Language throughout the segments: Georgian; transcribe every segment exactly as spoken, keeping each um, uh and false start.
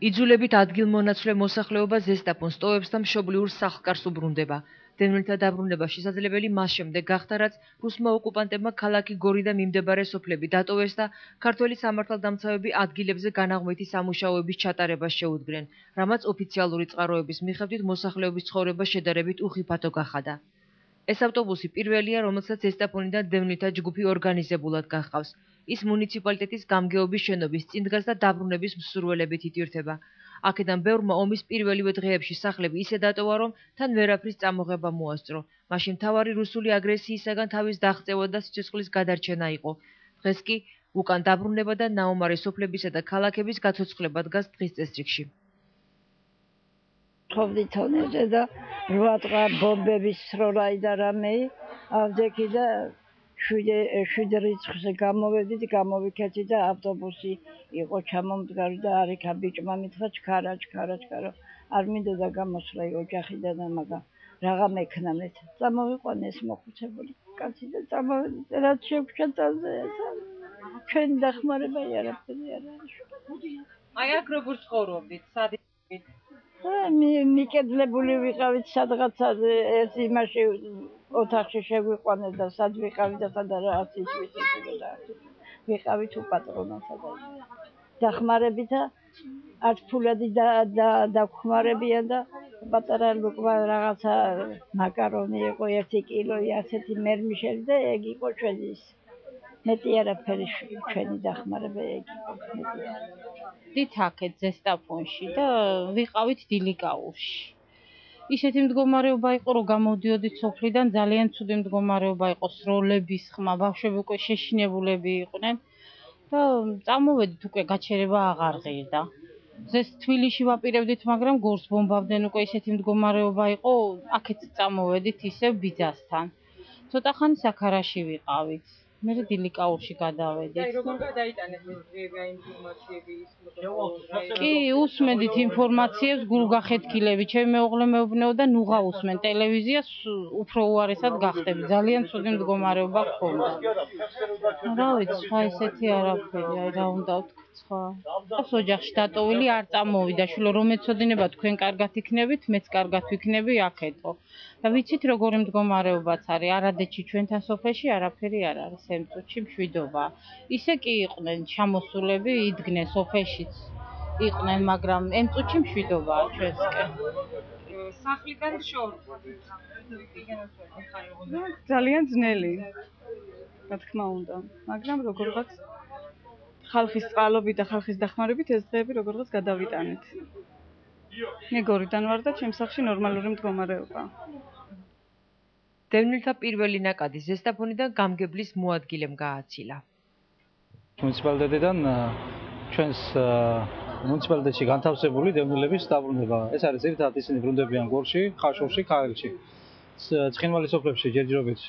იძულებით ადგილმონაცვლე მოსახლეობა ზესტაფონს ტოვებს და მშობლიურ სახლ-კარს უბრუნდება. დევნილთა დაბრუნება შესაძლებელი მას შემდეგ გახდა, რაც რუსმა ოკუპანტებმა ქალაქი გორი და მიმდებარე სოფლები დატოვეს და ქართველი სამართალდამცავები ადგილებზე განაღმვითი სამუშაოების ჩატარებას შეუდგნენ, რამაც ოფიციალური წყაროების მიხედვით მოსახლეობის ცხოვრება შედარებით უხიფათო გახადა. ეს ავტობუსი პირველია, რომელსაც ზესტაფონიდან დევნილთა ჯგუფი ორგანიზებულად გახავს. ის მუნიციპალიტეტის გამგეობის შენობის წინ დგას და დაბრუნების მსურველებით ითვირთება. აქედან ბევრმა ომის პირველივე დღეებში სახლები ისე დატოვა, რომ თან ვერაფრის წამოღება მოასწრო. მაშინ მთავარი რუსული აგრესიისაგან თავის დაღწევა და სიცოცხლის გადარჩენა იყო. დღეს კი უკან დაბრუნება და ნაომარი სოფლებისა და ქალაქების გაცოცხლება დგას დღის წესრიგში. ხოვდი თონეზე და რვა დღე ბომბების სროლა და რამე ავდექი და შვიდ რიცხვზე გამოვედით, გამოვიქეცი და ავტობუსი იყო ჩამომდგარი და არიქა ბიჭმა მითხრა ჩქარა, ჩქარა, ჩქარა. არ მინდოდა გამოსვლა ოჯახიდან და მაგრამ რაღა მექნა მე. წამოვიყვანე ეს მოხუცებული კაცი და წამოვედი რაც შევქჩა წაზე ესა. ჩვენი დახმარება არაფერი არ არის. აი აქ როგორ ცხოვრობდით? სად იყავით? მიკედლებული ვიყავით სადღაცა ეს იმაში ოთახში შეგვიყვანე და სად ვიყავით და სადა რაღაც ისვისის და ვიყავით უპატრონოსა და დახმარებით არც ფულადი და დაგხმარებიან და პატარა ლუკმა რაღაცა მაკარონი იყო ერთი კილოი ასეთი მერმიშელი და ეგ იყო ჩვენი მეტი არაფერი ჩვენი დახმარება ეგ იყო მეტი დით აქეთ ზესტაფონში და ვიყავით დილიკაურში. ისეთი მდგომარეობა იყო, რომ გამოდიოდით სოფლიდან, ძალიან ცუდი მდგომარეობა იყო, სროლების ხმა, ბავშვები უკვე შეშინებულები იყვნენ და წამოვედით უკვე გაჩერება აღარ ღირდა. ზეს თბილისში ვაპირებდით, მაგრამ გორს ბომბავდნენ უკვე ისეთი მდგომარეობა იყო, აქეთ წამოვედით ისევ ბიძასთან. ცოტა ხანი საქარაში ვიყავით. მე დილიკაურში გადავედით. აი როგორ გადაიტანეთ ეს დღეები აი ინფორმაციები ის კი, უსმენდით ინფორმაციებს გულგახეთქილები. ჩემი მეუღლე მეუბნეოდა, ნუღა usmen ტელევიზიას უფრო უარესად გახდები. ძალიან ცუდი მდგომარეობა გქონდა. რა ვიცი, სხვა ესეთი არაფერი, აი რა უნდა ვთქვა სხვა. ყავს ოჯახში დატოვილი არ წამოვიდა, შვილო რომ ეცოდინება თქვენ კარგად იქნებით, მეც კარგად ვიქნები აქეთო. და ვიცით როგორი მდგომარეობაც არის, არადეთში ჩვენთან სოფელში არაფერი არ არის, ამ წუთში მშვიდობა. ისე კი იყვნენ ჩამოსულები, იდგნენ სოფელშიც იყვნენ, მაგრამ ამ წუთში მშვიდობაა ჩვენსკენ. სახლიდან შორს. ძალიან ძნელი. რა თქმა უნდა, მაგრამ როგორღაც ხალხის წყალობით და ხალხის დახმარებით ეს დღეები როგორღაც გადავიტანეთ. მე გორიდან ვარ და ჩემს სახლში ნორმალური მდგომარეობაა. დევნილთა პირველი ნაკადი ზესტაფონიდან გამგებლის მოადგილემ გააცილა. მუნიციპალიტეტიდან ჩვენს მუნიციპალიტეტში განთავსებული დევნილების დაბრუნება. ეს არის ერთად ისინი ბრუნდებიან გორში, ხაშურში, ქაელში. ცხინვალის სოფლებში ჯერჯერობით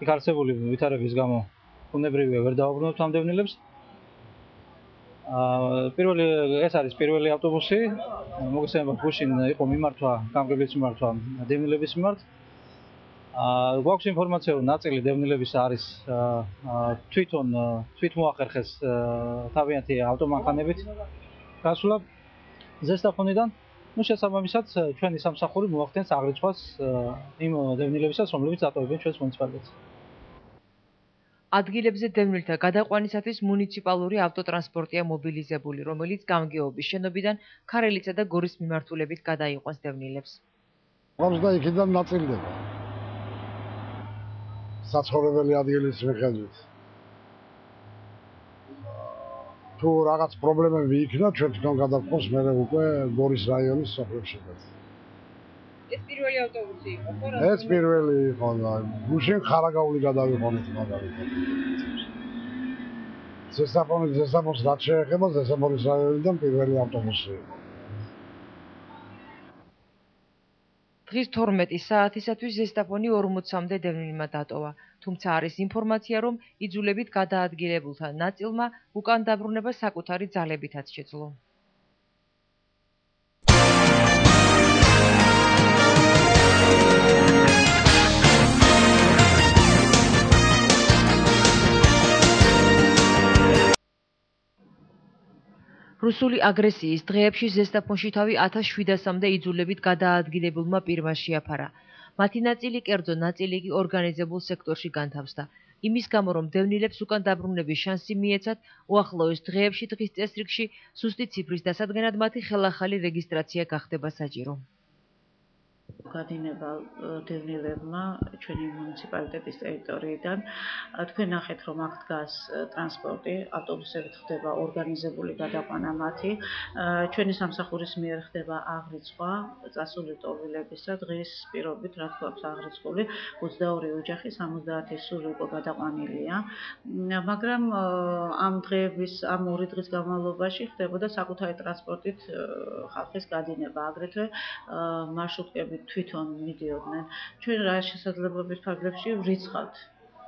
იქ არსებული ვითარების გამო უნებრივია ვერ დავაბრუნებთ ამ დევნილებს. პირველი ეს არის პირველი ავტობუსი, მოგესალმებით გუშინ იყო მიმართვა, გამგებლის მიმართვა დევნილების მიმართ. გვაქვს ინფორმაცია, რომ ნაწილი დევნილების არის თვითონ თვითმოახერხეს თავიანთი ავტომანქანებით გასვლა ზესტაფონიდან. ნუ შესაბამისად ჩვენი სამსახური მოახდენს აღრიცხვას იმ დევნილებისაც, რომლებიც დატოვებენ ჩვენს მუნიციპალიტეტს. ადგილებზე დევნილთა გადაყვანისათვის მუნიციპალური ავტოტრანსპორტია მობილიზებული, რომელიც გამგეობის შენობიდან ქარელისა და გორის მიმართულებით გადაიყვანს დევნილებს. ყავს და იქიდან ნაწილდება. საცხოვრებელი ადგილის მიხედვით. თუ რაღაც პრობლემები იქნა, ჩვენ თვითონ გადავყავს მე უკვე გორის რაიონის სოფლებში. ეს პირველი ავტობუსი იყო, ხო? ეს პირველი იყო და გუშინ ხარაგაული გადავიყვანეთ მაგალითად. ზესტაფონის ზესტაფონს რაც შეეხება, ზესტაფონის რაიონიდან პირველი ავტობუსი იყო. დღის თორმეტი საათისათვის ზესტაფონი ორმოცამდე დევნილმა დატოვა, თუმცა არის ინფორმაცია, რომ იძულებით გადაადგილებულთა ნაწილმა უკან დაბრუნება საკუთარი ძალებითაც შეძლო. რუსული აგრესიის დღეებში ზესტაფონში თავი ათას შვიდასამდე იძულებით გადაადგილებულმა პირმა შეაფარა. მათი ნაწილი კერძო, ნაწილი კი ორგანიზებულ სექტორში განთავსდა. იმის გამო, რომ დევნილებს უკან დაბრუნების შანსი მიეცათ, უახლოეს დღეებში დღის წესრიგში სუსტი ციფრის დასადგენად მათი ხელახალი რეგისტრაცია გახდება საჭირო. გადინება დევნილებმა ჩვენი მუნიციპალიტეტის ტერიტორიიდან. თქვენ ნახეთ, რომ აქ დგას ტრანსპორტი, ავტობუსებით ხდება ორგანიზებული გადაყვანა მათი. ჩვენი სამსახურის მიერ ხდება აღრიცხვა წასული ტოვილებისა. დღის პირობით, რა თქმა უნდა, აღრიცხული ოცდაორი ოჯახი, სამოცდაათი სული უკვე გადაყვანილია. მაგრამ ამ დღეების, ამ ორი დღის განმავლობაში ხდებოდა საკუთარი ტრანსპორტით ხალხის გადინება, აგრეთვე მარშრუტკებით თვითონ მიდიოდნენ. ჩვენ რა შესაძლებლობის ფარგლებში ვრიცხავთ,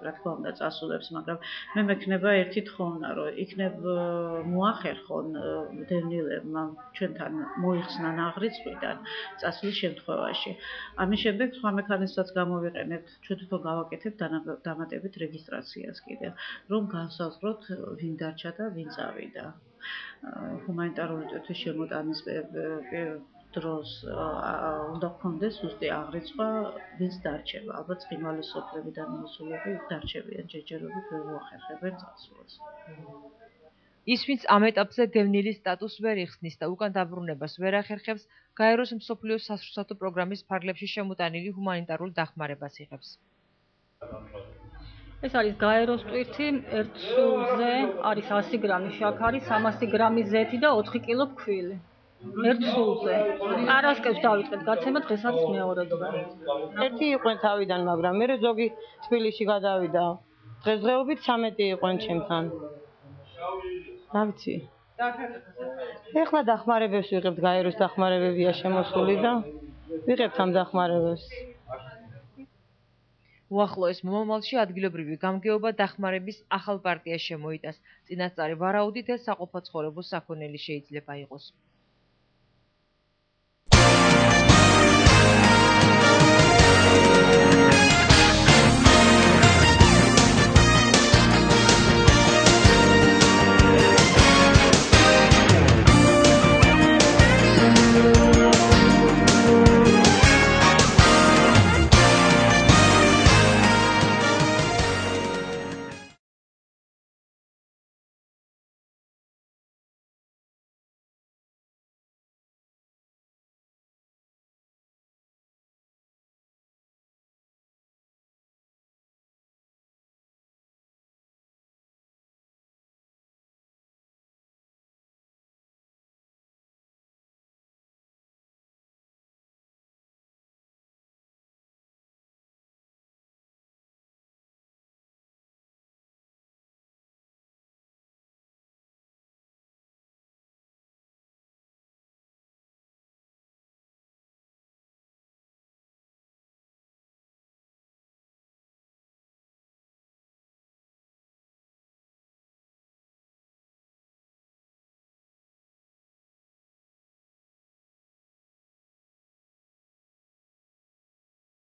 რა თქმა უნდა, წასულებს, მაგრამ მე მექნება ერთი თხოვნა, რომ იქნებ მოახერხონ დევნილებმა ჩვენთან მოიხსნან აღრიცხვიდან წასვლის შემთხვევაში. ამის შემდეგ სხვა მექანიზმსაც გამოვიყენებთ, ჩვენ თვითონ გავაკეთებთ დამატებით რეგისტრაციას კიდევ, რომ განსაზღვროთ ვინ დარჩა და ვინ წავიდა. ჰუმანიტარული ტვირთის შემოტანის დროს უნდა გქონდეს ზუსტი აღრიცხვა, ვინც დარჩება. ალბათ ცხინვალის სოფლებიდან მოსულები დარჩებიან ჯერჯერობით, ვერ მოახერხებენ წასვლას. ის, ვინც ამ ეტაპზე დევნილის სტატუსს ვერ იხსნის და უკან დაბრუნებას ვერ ახერხებს, გაეროს მსოფლიო სასურსათო პროგრამის ფარგლებში შემოტანილი ჰუმანიტარულ დახმარებას იღებს. ეს არის გაეროს ტვირთი, ერთ სულზე არის ასი გრამი შაქარი, სამასი გრამი ზეთი და ოთხი კილო ფქვილი. ერთ სულზე. პარასკევს დავიწყეთ გაცემა, დღეს არის მეორე დღე. ერთი იყვნენ თავიდან, მაგრამ მე ზოგი თბილისში გადავიდა. დღესდღეობით სამეტი იყვნენ ჩემთან. რა ვიცი. ეხლა დახმარებებს ვიღებთ, გაეროს დახმარებებია შემოსული და ვიღებთ ამ დახმარებებს. უახლოეს მომავალში ადგილობრივი გამგეობა დახმარების ახალ პარტიას შემოიტანს. წინასწარი ვარაუდით ეს საყოფაცხოვრებო საქონელი შეიძლება იყოს.